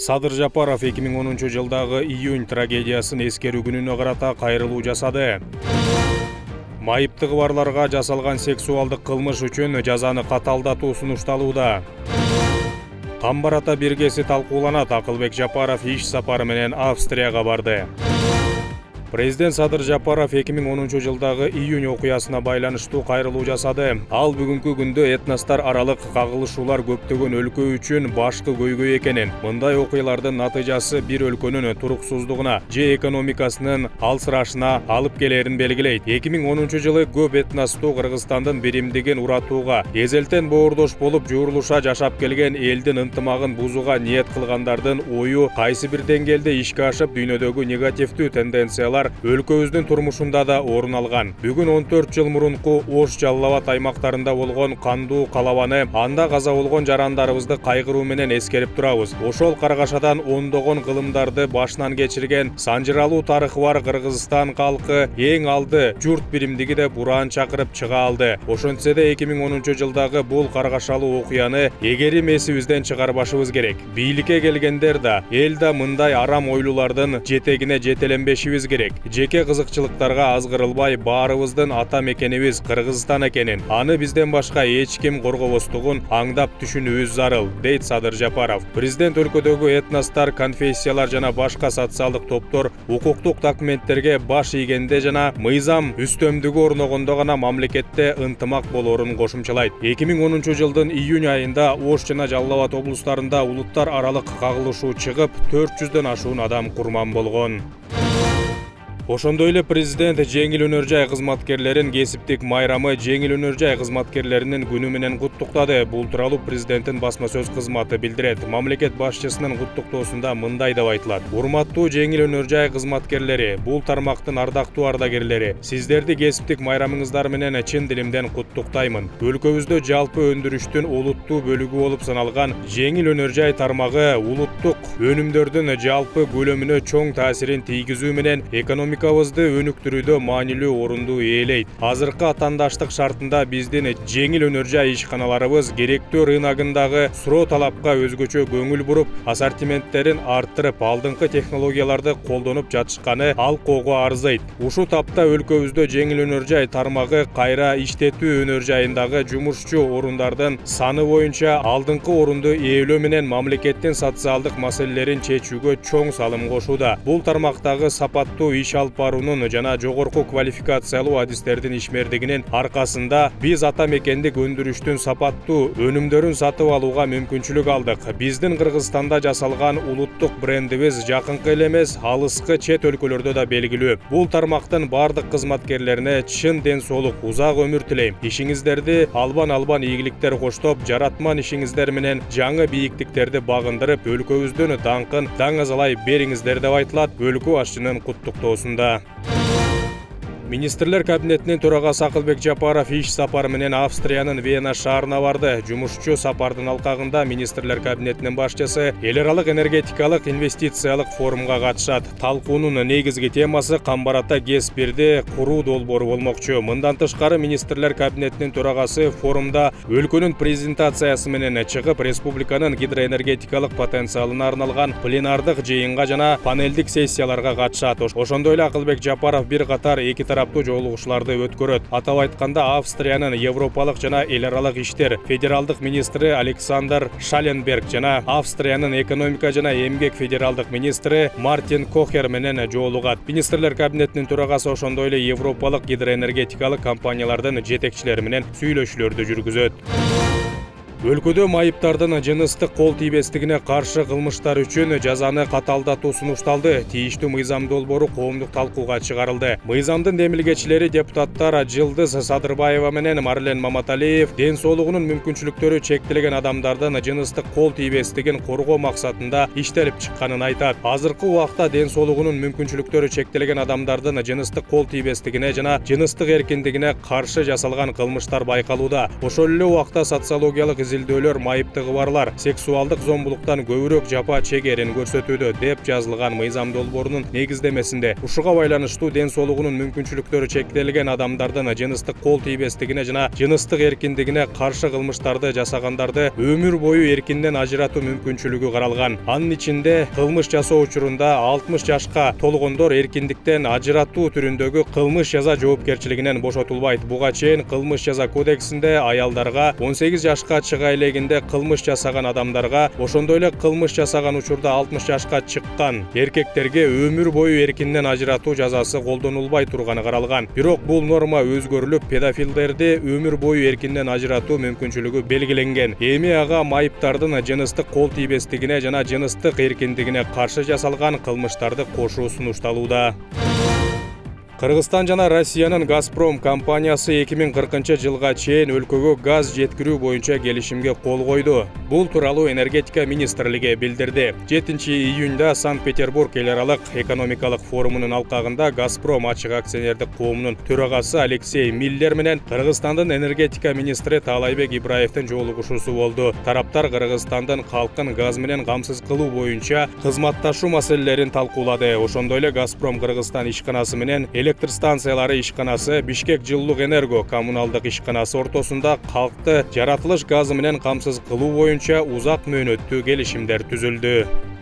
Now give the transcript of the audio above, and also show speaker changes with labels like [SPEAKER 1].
[SPEAKER 1] Садыр Жапаров 2010-жылдагы июнь трагедиясын эскерүү күнүнө карата кайрылуу жасады. Майыптыгы барларга жасалган сексуалдык кылмыш үчүн жазаны каталдатуу сунушталууда. Камбар ата биргеси талкууланат. Акылбек Жапаров иш сапары менен Австрияга барды. Президент Садыр Жапаров 2010-жылдагы июнь окуясына байланыштуу кайрылуу жасады. Ал бүгүнкү күндө этностор аралык кагылышуулар көптөгөн өлкө үчүн башкы көйгөй экенин, мындай окуялардын натыйжасы бир өлкөнүн туруксуздугуна же экономикасынын алсырашына алып келерин белгилейт. 2010-жылы көп этностуу Кыргызстандын биримдигин уратууга, эзелтен боордош болуп жуурулуша жашап келген элдин ынтымагын бузууга ниет кылгандардын ою кайсы бир деңгээлде ишке ашып, дүйнөдөгү негативдүү тенденциялар өлкөбүздүн турмушунда да орун алган. Бүгүн 14 жыл мурунку Ош Жалал Абад аймактарында болгон кандуу калабаны, анда каза болгон жарандарыбызды кайгыруу менен эскерип турабыз. Ошол каргашадан ондогон кылымдарды башынан кечирген санжыралуу тарыхы бар Кыргызстан калкы эң алды журт биримдиги деп ураан чакырып чыга алды. Ошентсе да 2010-жылдагы бул каргашалуу окуяны эгерим эсибизден чыгарбашыбыз керек. Бийликке келгендер да, эл да мындай арам ойлуулардын жетегине жетеленбешибиз керек. Жеке кызыкчылыктарга азгырылбай, баарыбыздын ата мекенибиз Кыргызстан экенин, аны бизден башка эч ким коргобостугун аңдап түшүнүүбүз зарыл, дейт Садыр Жапаров. Президент өлкөдөгү этностор, конфессиялар жана башка социалдык топтор укуктук документтерге баш ийгенде жана мыйзам үстөмдүгү орногондо гана мамлекетте ынтымак болорун кошумчалайт. 2010-жылдын июнь айында Ош жана Жалал Абад облустарында улуттар аралык кагылышуу чыгып, 400дөн ашуун адам курман болгон. Ошондой эле президент жеңил өнөр жай кызматкерлерин кесиптик майрамы жеңил өнөр жай кызматкерлеринин күнү менен куттуктады. Бул тууралуу президенттин басма сөз кызматы билдирет. Мамлекет башчысынын куттуктоосунда мындай деп айтылат: урматтуу жеңил өнөр жай кызматкерлери, бул тармактын ардактуу ардагерлери, сиздерди кесиптик майрамыңыздар менен чын дилимден куттуктаймын. Өлкөбүздө жалпы өндүрүштүн олуттуу бөлүгү болуп саналган жеңил өнөр жай тармагы улуттук өнүмдөрдүн жалпы көлөмүнө чоң таасирин тийгизүү менен экономикабызды өнүктүрүүдө маанилүү орунду ээлейт. Азыркы атаандаштык шартында биздин жеңил өнөр жай ишканаларыбыз керектөө рыногундагы суроо талапка өзгөчө көңүл буруп, ассортименттерин арттырып, алдыңкы технологияларды колдонуп жатышканы алкоого арзыйт. Ушул тапта өлкөбүздө жеңил өнөр жай тармагы кайра иштетүү өнөр жайындагы жумушчу орундардын саны боюнча алдыңкы орунду ээлөө менен мамлекеттин социалдык маселелерин чечүүгө чоң салым кошууда. Бул тармактагы сапаттуу иш алып баруунун жана жогорку квалификациялуу адистердин ишмердигинин аркасында биз ата мекендик өндүрүштүн сапаттуу өнүмдөрүн сатып алууга мүмкүнчүлүк алдык. Биздин Кыргызстанда жасалган улуттук брендибиз жакынкы эле эмес, алыскы чет өлкөлөрдө да белгилүү. Бул тармактын бардык кызматкерлерине чын ден соолук, узак өмүр тилейм. Ишиңиздерди албан ийгиликтер коштоп, жаратман ишиңиздер менен жаңы бийиктиктерди багындырып, өлкөбүздүн даңкын даңазалай бериңиздер деп айтылат өлкө башчынын куттуктоосунда. Министрлер кабинетинин төрагасы Акылбек Жапаров иш сапары менен Австриянын Вена шаарына барды. Жумушчу сапардын алкагында министрлер кабинетинин башчысы эл аралык энергетикалык инвестициялык форумга катышат. Талкуунун негизги темасы Камбар ата ГЭС-1 куруу долбоору болмокчу. Мындан тышкары министрлер кабинетинин төрагасы форумда өлкөнүн презентациясы менен чыгып, республиканын гидроэнергетикалык потенциалына арналган пленардык жыйынга жана панелдик сессияларга катышат. Ошондой эле Акылбек Жапаров бир катар эки тараптуу жолугушууларды өткөрөт. Атап айтканда, Австриянын Европалык жана эл аралык иштер федералдык министри Александр Шаленберг жана Австриянын экономика жана эмгек федералдык министри Мартин Кохер менен жолугат. Министрлер кабинетинин төрагасы ошондой эле европалык гидроэнергетикалык компаниялардын жетекчилери менен сүйлөшүүлөрдү жүргүзөт. Өлкөдө майыптардын жыныстык кол тийбестигине каршы кылмыштар үчүн жазаны каталдатуу сунушталды. Тийиштүү мыйзам долбоору коомдук талкууга чыгарылды. Мыйзамдын демилгечилери депутаттар Жылдыз Садырбаева менен Марлен Маматалиев ден соолугунун мүмкүнчүлүктөрү чектелген адамдардын жыныстык кол тийбестигин коргоо максатында иштелип чыкканын айтат. Азыркы убакта ден соолугунун мүмкүнчүлүктөрү чектелген адамдардын жыныстык кол тийбестигине жана жыныстык эркиндигине каршы жасалган кылмыштар байкалууда. Ошол эле убакта социологиялык изилдөөлөр майыптыгы барлар сексуалдык зомбулуктан көбүрөөк жапа чегерин көрсөтүүдө деп жазылган мыйзам долбоорунун негиздемесинде. Ушуга байланыштуу ден соолугунун мүмкүнчүлүктөрү чектелген адамдардын жыныстык кол тийбестигине жана жыныстык эркиндигине каршы кылмыштарды жасагандарды өмүр бою эркинден ажыратуу мүмкүнчүлүгү каралган. Анын ичинде кылмыш жасоо учурунда 60 жашка толгондор эркиндиктен ажыратуу түрүндөгү кылмыш жаза жоопкерчилигинен бошотулбайт. Буга чейин кылмыш жаза кодексинде аялдарга 18 жашка чыга элегинде кылмыш жасаган адамдарга, ошондой эле кылмыш жасаган учурда 60 жашка чыккан эркектерге өмүр бою эркинден ажыратуу жазасы колдонулбай турганы каралган. Бирок бул норма өзгөрүлүп, педофилдерди өмүр бою эркинден ажыратуу мүмкүнчүлүгү белгиленген. Эми ага майыптардын жыныстык кол тийбестигине жана жыныстык эркиндигине каршы жасалган кылмыштарды кошуу сунушталууда. Кыргызстан жана Россиянын Газпром компаниясы 2040-жылга чейин өлкөгө газ жеткирүү боюнча келишимге кол койду. Бул тууралуу энергетика министрлиги билдирди. 7-июнда Санкт-Петербург эл аралык экономикалык форумунун алкагында Газпром ачык акционердик коомунун төрагасы Алексей Миллер менен Кыргызстандын энергетика министри Таалайбек Ибраевдин жолугушуусу болду. Тараптар Кыргызстандын калкын газ менен камсыз кылуу боюнча кызматташуу маселелерин талкуулады. Ошондой эле Газпром Кыргызстан ишканасы менен электр станциялары ишканасы, Бишкек жылуулук энерго коммуналдык ишканасы ортосунда калкты жаратылыш газы менен камсыз кылуу боюнча узак мөөнөттүү келишимдер түзүлдү.